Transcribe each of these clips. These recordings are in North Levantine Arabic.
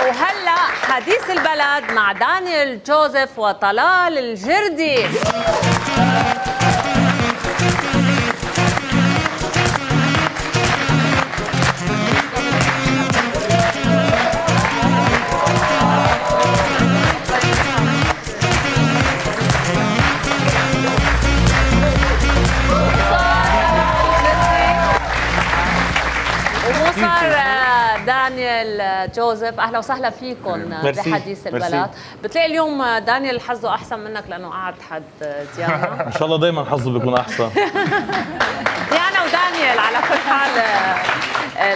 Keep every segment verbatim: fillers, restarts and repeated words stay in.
وهلا حديث البلد مع دانيال جوزيف وطلال الجردي. دانيال جوزيف، اهلا وسهلا فيكم بحديث البلد. بتلاقي اليوم دانيال حظه احسن منك لانه قعد حد ديانا. ان شاء الله دائما حظه بيكون احسن. ديانا ودانيال على كل حال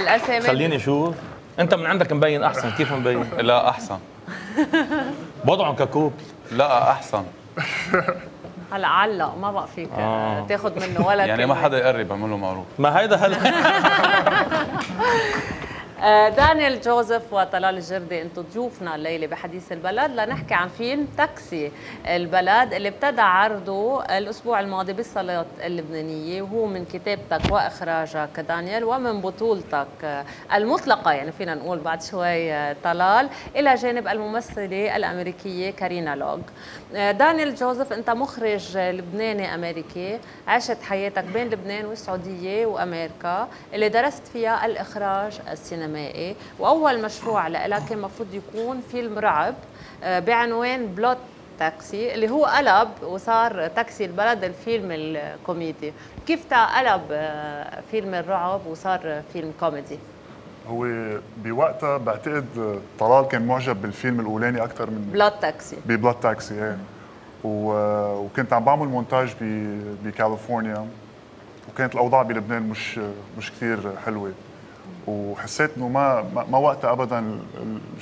الاسامي. خليني اشوف، انت من عندك مبين احسن، كيف مبين؟ لا احسن. وضعهم ككوب. لا احسن. هلا علق ما بقى فيك آه. تاخذ منه ولا يعني ما حدا يقرب، اعمل له معروف. ما هيدا هلا. دانيال جوزيف وطلال الجردي، انتم ضيوفنا الليله بحديث البلد لنحكي عن فيلم تاكسي البلد اللي ابتدى عرضه الاسبوع الماضي بالصالات اللبنانيه، وهو من كتابتك واخراجك دانيال ومن بطولتك المطلقه يعني فينا نقول بعد شوي طلال، الى جانب الممثله الامريكيه كارينا لوغ. دانيال جوزيف، انت مخرج لبناني امريكي، عشت حياتك بين لبنان والسعوديه وامريكا اللي درست فيها الاخراج السينمائي، واول مشروع لك كان المفروض يكون فيلم رعب بعنوان بلوت تاكسي اللي هو قلب وصار تاكسي البلد الفيلم الكوميدي. كيف تقلب فيلم الرعب وصار فيلم كوميدي؟ هو بوقتها بعتقد طلال كان معجب بالفيلم الاولاني اكثر من بلوت تاكسي. ببلوت تاكسي ايه. وكنت عم بعمل مونتاج بكاليفورنيا، وكانت الاوضاع بلبنان مش مش كثير حلوه، وحسيت انه ما ما وقتها ابدا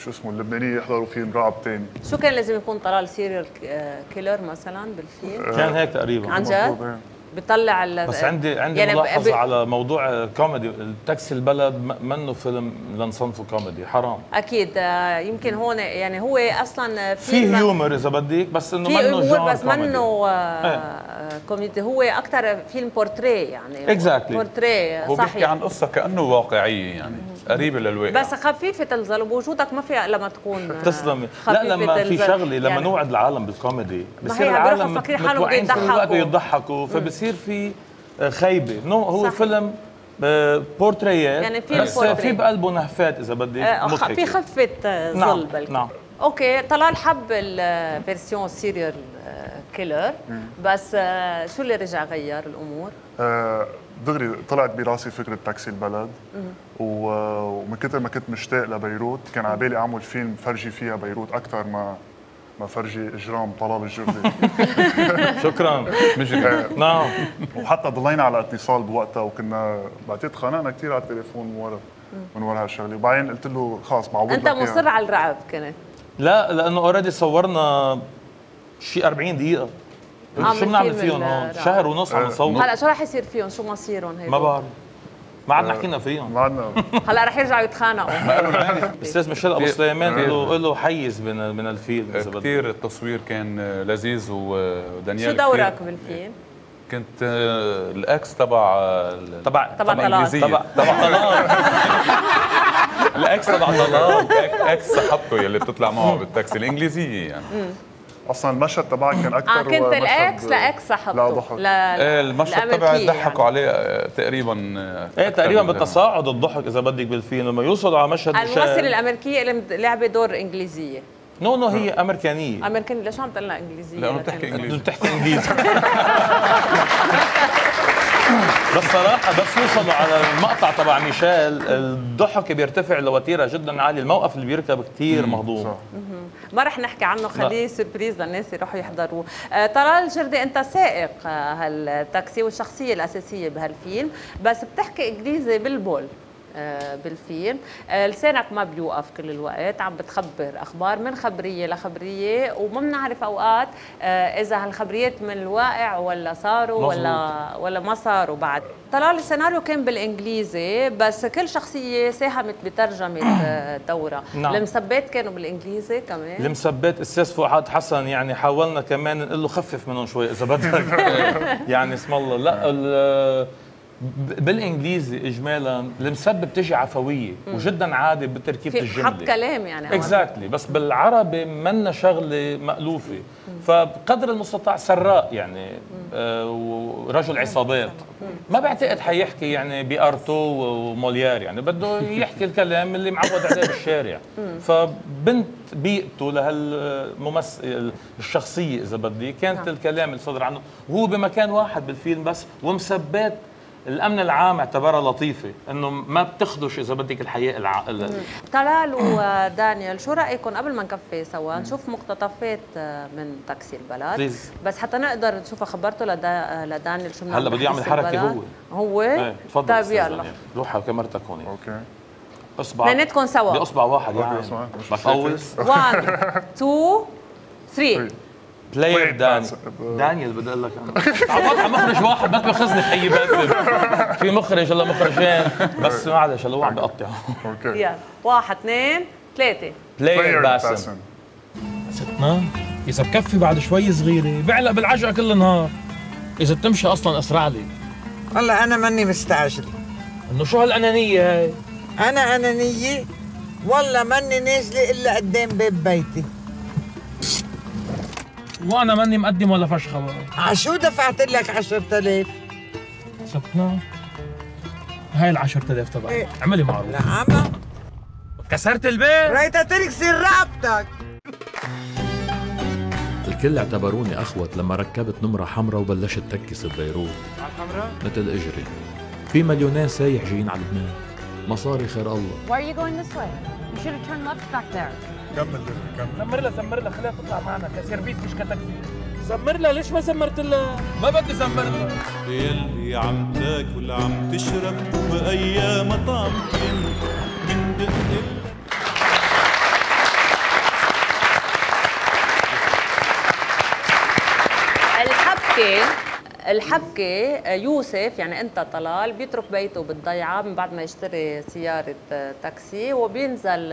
شو اسمه اللبنانيه يحضروا فيلم رعب ثاني. شو كان لازم يكون طلال سيريال كيلر مثلا بالفيلم؟ كان هيك تقريبا عن جد؟ بيطلع بس عندي عندي يعني ملاحظه على موضوع كوميدي. التاكسي البلد منه فيلم لنصنفه كوميدي، حرام. اكيد يمكن هون يعني هو اصلا في هيومر اذا بدك، بس انه منه جانر بس منه آه كوميدي، هو اكثر فيلم بورتريه يعني. اكزاكتلي بورتريه صحيح. هو بيحكي عن قصه كانه واقعيه يعني قريبه للواقع، بس خفيفه الظل وبوجودك ما فيها لما تكون تسلمي. لا لما في شغله لما يعني نوعد العالم بالكوميدي بصير العالم متوقعين كل الوقت يضحكوا، فبصير في خيبه. نو هو صحيح. فيلم بورتريات يعني في بس بورتري. في بقلبه نهفات اذا بدك آه في خفه ظل. نعم. بلكي نعم. اوكي، طلال حب الفيرسيون سيريال كيلر، بس آه شو اللي رجع غير الامور؟ آه دغري طلعت براسي فكره تاكسي البلد، ومن كثر ما كنت مشتاق لبيروت كان على بالي اعمل فيلم فرجي فيها بيروت اكثر ما ما فرجي اجرام طلال الجردي. شكرا. نعم. وحتى ضلينا على اتصال بوقتها، وكنا بعتقد خانقنا كثير على التليفون من ورا من ورا هالشغله، وبعدين قلت له خلص معود لك. انت مصر على الرعب كنت؟ لا لانه اوريدي صورنا شيء أربعين دقيقة. شو بنعمل فيهم هون؟ شهر ونص عم نصور. هلا شو رح يصير فيهم؟ شو مصيرهم هيك؟ ما بعرف. ما عاد حكينا فيهم. ما عدنا. هلا رح يرجعوا يتخانقوا. استاذ ميشيل ابو سليمان له له حيز من من الفيلم. كثير التصوير كان لذيذ، ودانيال شو دورك بالفيلم؟ كنت الاكس تبع تبع تبع طلال تبع تبع طلال. الاكس تبع طلال، اكس صاحبته يلي بتطلع معه بالتاكسي الانجليزيه يعني. اصلا المشهد تبعك كان اكثر. اه كنت الاكس لاكس صاحبته. لا ضحك. ايه المشهد تبعي ضحكوا عليه تقريبا. ايه تقريبا بالتصاعد الضحك اذا بدك بالفيلم لما يوصلوا على مشهد الممثله الامريكيه اللي لعبت دور انجليزيه. نو نو هي امريكانيه. امريكانيه. ليش عم تقول لها انجليزيه؟ لانه بتحكي انجليزي. بتحكي انجليزي. بس صراحة بس يوصلوا على المقطع تبع ميشيل الضحك بيرتفع لوتيرة جدا عالية، الموقف اللي بيركب كثير مهضوم. ما رح نحكي عنه، خليه سربريز للناس يروحوا يحضروه. آه طلال الجردي، انت سائق آه هالتاكسي والشخصية الأساسية بهالفيلم، بس بتحكي انجليزي بالبول آه بالفيلم. آه لسانك ما بيوقف كل الوقت، عم بتخبر اخبار من خبريه لخبريه، وما بنعرف اوقات آه اذا هالخبريات من الواقع ولا صاروا مزبوط. ولا ولا ما صاروا بعد. طلال السيناريو كان بالانجليزي، بس كل شخصيه ساهمت بترجمه دورها. نعم. المسبات كانوا بالانجليزي كمان. المسبات استاذ فؤاد حسن يعني حاولنا كمان نقول له خفف منهم شوي اذا بدك. يعني اسم الله. لا بالانجليزي اجمالا المسبب بتجي عفويه وجدا عادي بتركيبه الجمله، حط كلام يعني اكزاكتلي exactly. بس بالعربي منا شغله مألوفه، فبقدر المستطاع سراء يعني آه ورجل عصابات ما بعتقد حيحكي يعني بارتو وموليير، يعني بده يحكي الكلام اللي معود عليه بالشارع. فبنت بيئته لهالممثل الشخصيه اذا بدي كانت الكلام اللي صدر عنه وهو بمكان واحد بالفيلم بس، ومثبات الامن العام اعتبرها لطيفه انه ما بتخدش اذا بدك الحياه الع... طلال ودانيال، شو رايكم قبل ما نكفي سوا نشوف مقتطفات من تاكسي البلد؟ بليز. بس حتى نقدر نشوفها. خبرته لدا... لدانيال شو هلا بده يعمل حركه هو هو ايه تفضل. طيب يلا روح على كاميرتك هون. اوكي اصبع اثنيناتكم سوا باصبع واحد يعني بفوز. واحد اثنين ثلاثة بلاير دانيال دانيال بدي اقول لك انا عم مخرج واحد ما تاخذني في اي باب، في مخرج هلا مخرجين بس معلش هلا هو عم بيقطع. اوكي يلا واحد اثنين ثلاثة بلاير باسم. ستنا اذا بكفي بعد شوي صغيره بعلق بالعجقه كل النهار، اذا بتمشي اصلا اسرع لي. والله انا ماني مستعجله. انه شو هالانانيه هاي؟ انا انانيه؟ والله ماني نازله الا قدام باب بيتي. وانا ماني مقدم ولا فشخه بقى. عشو دفعت لك عشرة آلاف؟ ستنا هاي ال عشرة آلاف تبعي. إيه؟ اعملي معروف. نعم كسرت البيت؟ ريتا تركسي رقبتك. الكل اعتبروني اخوت لما ركبت نمرة حمراء وبلشت تكس ببيروت. على الحمراء؟ مثل اجري. في مليونين سايح جايين على لبنان. مصاري خير الله. Why are you going this way? You should have turned left back there. كمل كمل. زمر لها زمر لها خليها تطلع معنا كسيرفيس مش كتاكسي. زمر لها ليش ما زمرت لها؟ ما بدي زمر لها. يلي عم تاكل عم تشرب وبأيام طعمتين من دق الحبكة الحبكة يوسف يعني انت طلال بيترك بيته بالضيعة من بعد ما يشتري سيارة تاكسي وبينزل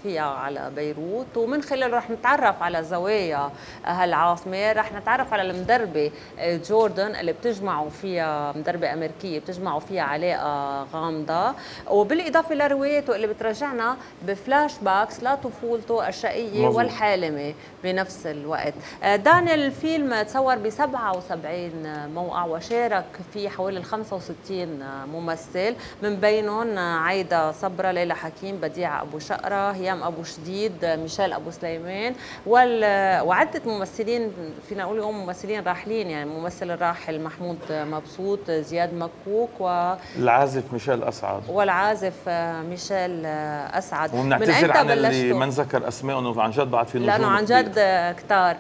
فيها على بيروت، ومن خلاله رح نتعرف على زوايا هالعاصمة، رح نتعرف على المدربة جوردن اللي بتجمعوا فيها مدربة أمريكية بتجمعوا فيها علاقة غامضة، وبالإضافة لروايته اللي بترجعنا بفلاش باكس لطفولته الشقية مزيد. والحالمة بنفس الوقت. دانيال الفيلم تصور ب سبعة وسبعين موقع وشارك فيه حوالي خمسة وستين ممثل، من بينهم عايدة صبرا، ليلى حكيم، بديعة أبو شقرة، هيام أبو شديد، ميشيل أبو سليمان، وعدة ممثلين فينا نقول اليوم ممثلين راحلين، يعني الممثل الراحل محمود مبسوط، زياد مكوك، والعازف ميشيل أسعد والعازف ميشيل أسعد. ونعتذر عن اللي ما نذكر أسمائهم، عن جد بعد في نجوم لأنه عن جد كتار.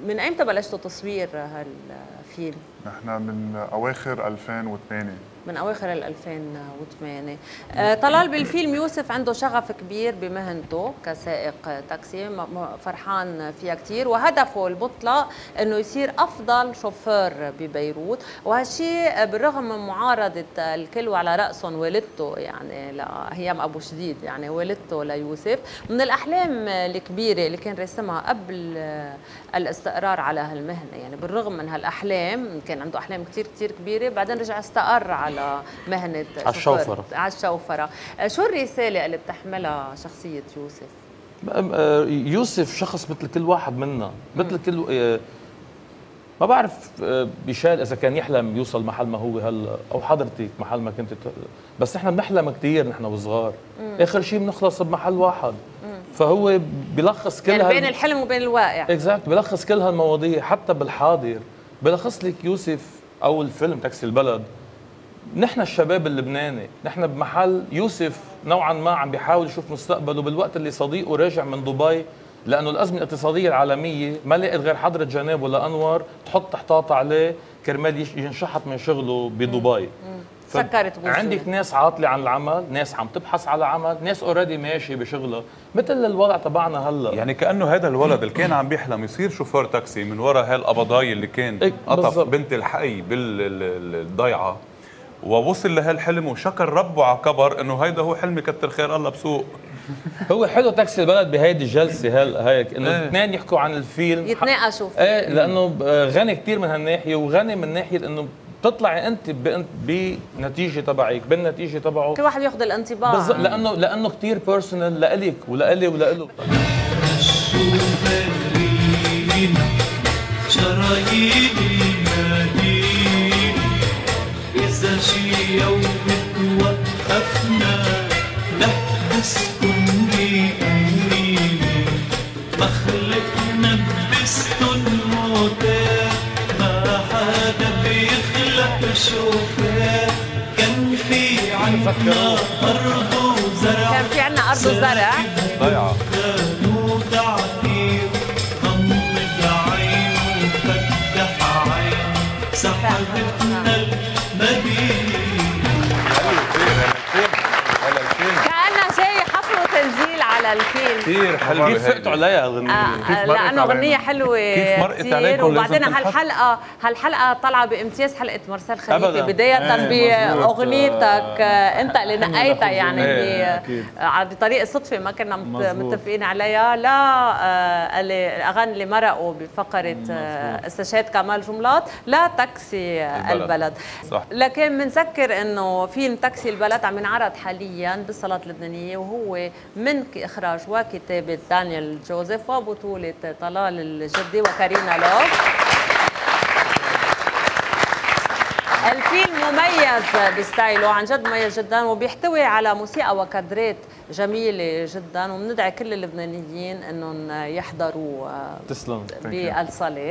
من أيمتى بلشتوا تصوير هالفيلم؟ نحن من أواخر ألفين وثمانية. من أواخر ال ألفين وثمانية. آه طلال بالفيلم يوسف عنده شغف كبير بمهنته كسائق تاكسي، فرحان فيها كثير، وهدفه المطلق انه يصير افضل شوفير ببيروت، وهالشيء بالرغم من معارضه الكل وعلى راسهم والدته يعني لهيام ابو شديد، يعني والدته ليوسف، من الاحلام الكبيره اللي كان رسمها قبل الاستقرار على هالمهنه، يعني بالرغم من هالاحلام كان عنده احلام كثير كثير كبيره، بعدين رجع استقر على على مهنة على الشوفرة على الشوفرة. شو الرسالة اللي بتحملها شخصية يوسف؟ يوسف شخص مثل كل واحد منا، مثل كل ما بعرف بيشال إذا كان يحلم يوصل محل ما هو هلا أو حضرتك محل ما كنت، بس نحن بنحلم كثير نحن وصغار، آخر شيء بنخلص بمحل واحد. مم. فهو بيلخص كل يعني هال... بين الحلم وبين الواقع. اكزاكت، بيلخص كل هالمواضيع حتى بالحاضر، بيلخص لك يوسف أو الفيلم تاكسي البلد. نحن الشباب اللبناني، نحن بمحل يوسف نوعا ما عم بيحاول يشوف مستقبله بالوقت اللي صديقه راجع من دبي، لأنه الأزمة الاقتصادية العالمية ما لقيت غير حضرة جنابه لأنور تحط حطاطة عليه كرمال ينشحط من شغله بدبي. سكرت بوجهه. عندك ناس عاطلة عن العمل، ناس عم تبحث على عمل، ناس اوريدي ماشي بشغلها، مثل الوضع تبعنا هلا. يعني كأنه هذا الولد اللي كان عم بيحلم يصير شوفير تاكسي من وراء هالقبضاي اللي كان قطف بنت الحي بالضيعة، ووصل لهالحلم وشكر ربه على كبر انه هيدا هو حلمي كتر خير الله بسوق. هو حلو تاكسي البلد بهيدي الجلسه هل هيك انه الاثنين ايه. يحكوا عن الفيلم، يتناقشوا فيه. ايه، لانه غني كثير من هالناحيه، وغني من ناحيه انه بتطلعي انت بنتيجه تبعك بالنتيجه تبعه كل واحد ياخذ الانطباع بالضبط، لانه لانه كثير بيرسونال لإلك ولإلي ولإله. شراييني ناديني إذا شي يوم توقفنا لحبسكن بأمنيني مخلقنا بستن موتات ما حدا بيخلق شوفات كان في عنا أرض وزرع كان في عنا أرض وزرع ضيعة كانوا تعطير غمض عين وفتح عين سحبتنا المدينة. كأنها شيء حفل وتنزيل على الفيلم. كثير حلوة. كيف فقتوا عليها الغنية؟ آه لأنه غنية حلوة كيف مرقت عليكم؟ وبعدين هالحلقة هالحلقة طالعة بامتياز حلقة مرسال خليفة أبداً. بداية ايه بأغنيتك انت اللي نقيتها يعني ايه بطريقة صدفة ما كنا متفقين عليها. لا آه الأغاني اللي مرقوا بفقرة آه استشهاد كمال جملات لا تاكسي البلد, البلد. صح. لكن بنذكر انه فيلم تاكسي البلد عم ينعرض حاليا بالصالات اللبنانية وهو من إخراج وكتابة دانيال جوزيف وبطولة طلال الجدي وكارينا لوف. الفيلم مميز بستايله عن جد مميز جدا وبيحتوي على موسيقى وكادرات جميلة جدا وبندعي كل اللبنانيين انهم يحضروا تسلم بالصالة.